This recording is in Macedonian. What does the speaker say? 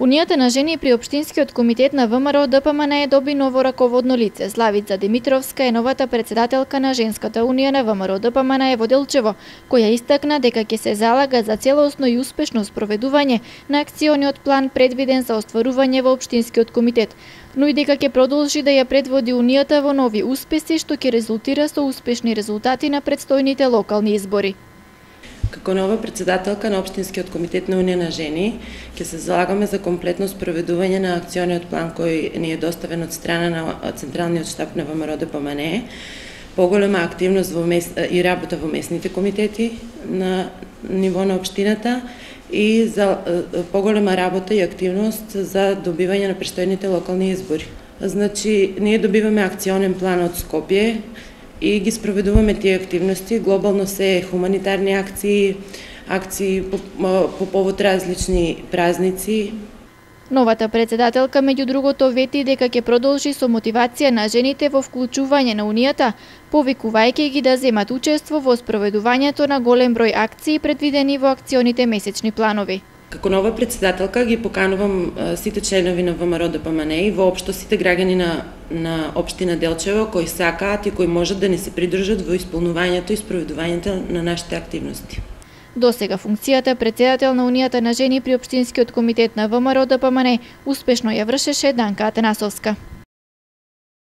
Унијата на жени при Општинскиот комитет на ВМРО ДПМН доби ново раководно лице. Славица Димитровска е новата председателка на Женската унија на ВМРО ДПМН во Делчево, која истакна дека ќе се залага за целосно и успешно спроведување на акциониот план предвиден за остварување во Општинскиот комитет, но и дека ќе продолжи да ја предводи Унијата во нови успеси што ќе резултира со успешни резултати на предстојните локални избори. Како нова председателка на Општинскиот комитет на Унија на жени, ќе се залагаме за комплетно спроведување на акциониот план кој ни е доставен од страна на Централниот штаб на ВМРО ДПМН, поголема активност и работа во местните комитети на ниво на општината и за поголема работа и активност за добивање на престојните локални избори. Значи, ние добиваме акционен план од Скопје и ги спроведуваме тие активности. Глобално се хуманитарни акции по повод различни празници. Новата председателка, меѓу другото, вети дека ќе продолжи со мотивација на жените во вклучување на Унијата, повикувајќи ги да земат учество во спроведувањето на голем број акции предвидени во акционите месечни планови. Како нова председателка ги поканувам сите членови на ВМРО ДПМН и воопшто сите граѓани на општина Делчево кои сакаат и кои можат да не се придружат во исполнувањето и спроведувањето на нашите активности. Досега функцијата председател на Унијата на жени при Општинскиот комитет на ВМРО ДПМН успешно ја вршеше Данка Атанасовска.